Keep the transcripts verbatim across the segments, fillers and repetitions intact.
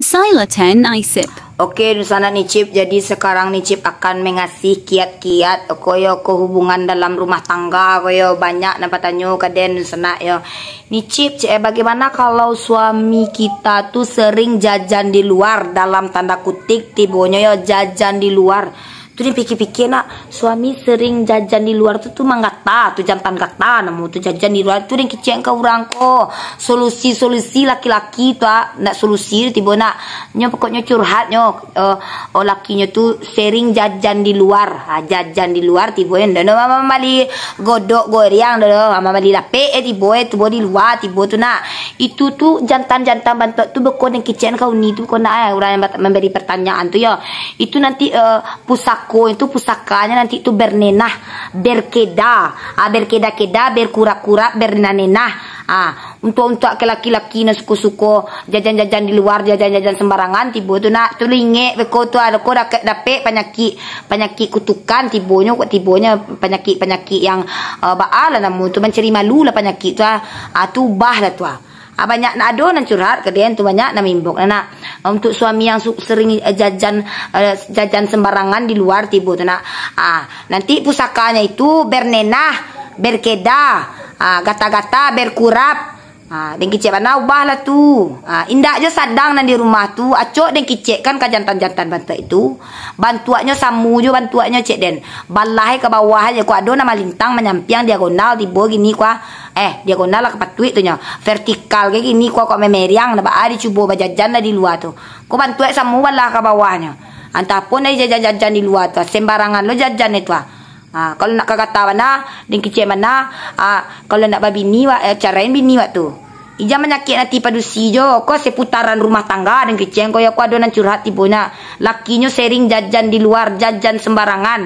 Silakan Nicip. Oke, dunsanak Nicip, jadi sekarang Nicip akan mengasih kiat-kiat, ko yo, ko hubungan dalam rumah tangga, ko yo, banyak nan batanyo ka den, dunsanak yo. Nicip, cek, eh, bagaimana kalau suami kita tu sering jajan di luar, dalam tanda kutik, tibonyo yo jajan di luar. Tu den pikia-pikia nak, suami sering jajan di luar tu, tu manggata, tu jantan gata namo tu, jajan di luar tu, den kicek ka urang ko. Solusi-solusi laki-laki tu, ah, nak solusi tibo nak. Nyo pokoknyo curhat nyo, eh, oh, lakinyo tu sering jajan di luar. Ha, jajan di luar tibo nyo, ndak ado mambali godok goreang doh, mambali lapek, eh, tibo, eh, tibo di luar, tibo tu nak. Itu tu jantan-jantan bantuak tu beko den kicek ka uni tu, ko nak, eh, urang yang bat-, mambari pertanyaan tu yo. Itu nanti, eh, pusako itu, pusakanya nanti tu bernenah, berkeda, ah, berkeda-keda, berkurap-kurap, bernenah-nenah. Ah, untuak-untuak ka laki-laki nan suko-suko jajan-jajan di luar, jajan-jajan sembarangan, tibo tu nak, tu lingek beko tu, ado ko dapek, dapek panyakik, panyakik kutukan, tibonyo, tibonyo panyakik-panyakik yang, eh, baa lah namo tu, mancari malu lah panyakik tu, ah. Ah, tu ubah lah tu, ah. Ah, banyak nak ado nan curhat ka den tu, banyak nan mimbok nak. Untuk suami yang su-, sering, eh, jajan, eh, jajan sembarangan di luar tibo tu nak. Ah, nanti pusakanya itu bernenah, berkeda, ah, gata-gata, berkurap. Ah, den kicek bana ubah lah tu. Ah, indak jo sadang nan di rumah tu, acok den kicekkan ka jantan-jantan bantuak itu. Bantuaknyo samo jo bantuaknyo cek den. Balah ka bawah aja, ko ado nan malintang, manyampiang, diagonal, tibo gini ko. Eh, diagonal lah ka patuik tu nyo. Vertikal ka gini ko, ko memeriang, nah baa dicubo bajajan lah di luar tu. Ko bantuak samo balah ka bawahnyo. Antah pun dari jajan-jajan di luar tu, sembarangan lo jajan itu ah. Ha, kalau nak ka gata bana, den kicek bana, ha, kalau nak babini wak, eh, carain bini wak tu. Ijan manyakik ati padusi jo, ko seputaran rumah tangga, den kicek ko yo, ko ado nan curhat tibo nak. Lakinyo sering jajan di luar, jajan sembarangan.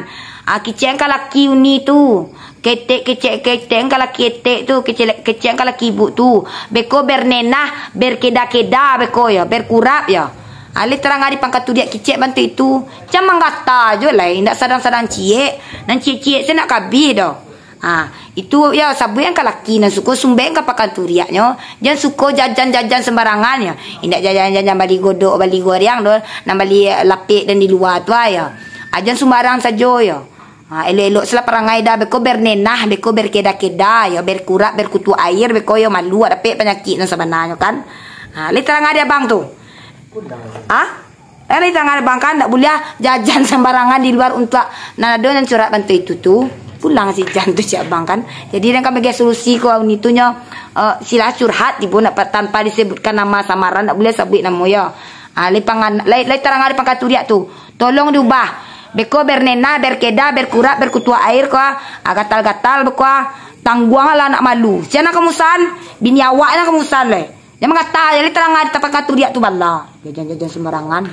Ha, kicek ka laki uni tu. Ketek, kicek, kicek ka laki etek tu, kicek, kicek ka laki ibuk tu. Beko bernenah, berkeda-keda beko yo, berkurap yo. Alih tarang ari pangkaturiak kicek bantuak itu. Jan manggata jo lai, indak sadang-sadang ciek. Nan ciek-ciek se nak kabih doh. Ha, itu yo sabuik ka laki nan suko sumbek ka pangkaturiaknyo. Jan suko jajan-jajan sembarangan yo. Indak jajan-jajan bali godok, bali goreang doh, nan bali lapek dan di luar tu ah yo. Ah, jan sumbarang sajo yo. Ha, elok-elok selah parangai dah, beko bernenah, beko berkeda-keda yo, berkurap, berkutu air, beko yo malu, dapek panyakik nan sabananyo kan. Ha, lai tarang ari abang tu. Ha? Eh, lai tarang ari abang kan, ndak buliah jajan sembarangan di luar untuak nan ado nan curhat bantuak itu tu. Pulang si jan tu cek abang kan. Jadi, nan ka bagian solusi ko nitu nyo, eh, silah curhat tibo nak pa-, tanpa disebutkan nama samaran, ndak buliah sabuik namo yo. Ha, lai pangan-, lai, lai tarang ari pangkaturiak tu. Tolong diubah. Beko bernenah, berkeda, berkurap, berkutuak air ko, ah, gatal-gatal beko, ah, tangguanglah anak malu. Sia nan kamusan, bini awak nan kamusan lai. Jan manggata, jan lai tarang ari tapangkaturiak tu bala. Jajan-jajan sembarangan.